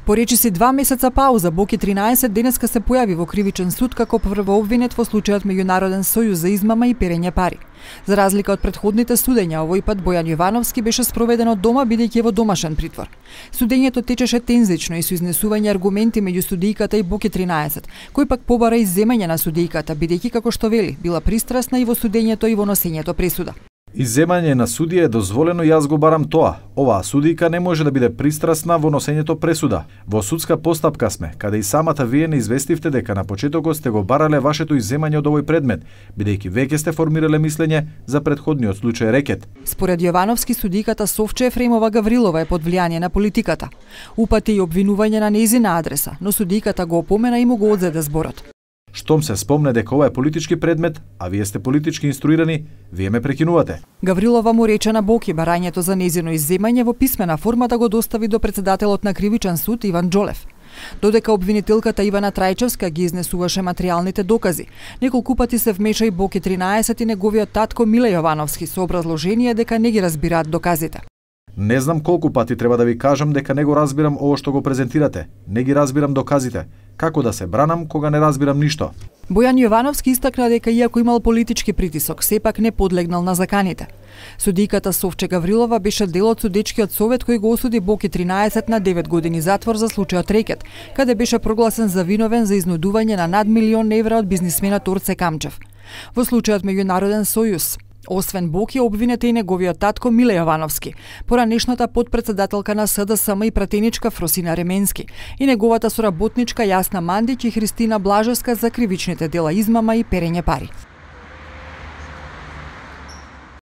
По речиси 2 месеца пауза, Боки 13 денеска се појави во кривичен суд како првообвинет во случајот Меѓународен сојуз за измама и перење пари. За разлика од претходните судења, овој пат Бојан Јовановски беше спроведен од дома бидејќи во домашен притвор. Судењето течеше тензично и со изнесување аргументи меѓу судијката и Боки 13, кој пак побара изземање на судијката, бидејќи како што вели, била пристрасна и во судењето и во носењето пресуда. Изземање на судија е дозволено и јас го барам тоа. Оваа судијка не може да биде пристрасна во носењето пресуда. Во судска постапка сме, каде и самата вие не известивте дека на почетокот сте го барале вашето изземање од овој предмет, бидејќи веќе сте формирале мислење за претходниот случај рекет. Според Јовановски, судиката Совче Ефремова Гаврилова е под влијание на политиката. Упати и обвинување на нејзина адреса, но судиката го опомена и му го одзеде зборот. Штом се спомне дека ова е политички предмет, а вие сте политички инструирани, вие ме прекинувате. Гаврилова му рече на Боки барањето за нејзино изземање во писмена форма да го достави до председателот на Кривичен суд Иван Џолев. Додека обвинителката Ивана Трајчевска ги изнесуваше материјалните докази, неколку пати се вмеша и Боки 13 и неговиот татко Миле Јовановски со образложение дека не ги разбираат доказите. Не знам колку пати треба да ви кажам дека не го разбирам ово што го презентирате. Не ги разбирам доказите. Како да се бранам кога не разбирам ништо? Бојан Јовановски истакна дека иако имал политички притисок, сепак не подлегнал на заканите. Судијката Совче Гаврилова беше дел од судечкиот совет кој го осуди Боки 13 на 9 години затвор за случајот рекет, каде беше прогласен за виновен за изнудување на над 1 милион евра од бизнисменот Орце Камчев. Во случајот Меѓународен сојуз, освен Боки, обвинет и неговиот татко Миле Јовановски, поранешната подпредседателка на СДСМ и пратеничка Фросина Ременски и неговата соработничка Јасна Мандиќ и Христина Блажевска за кривичните дела измама и перење пари.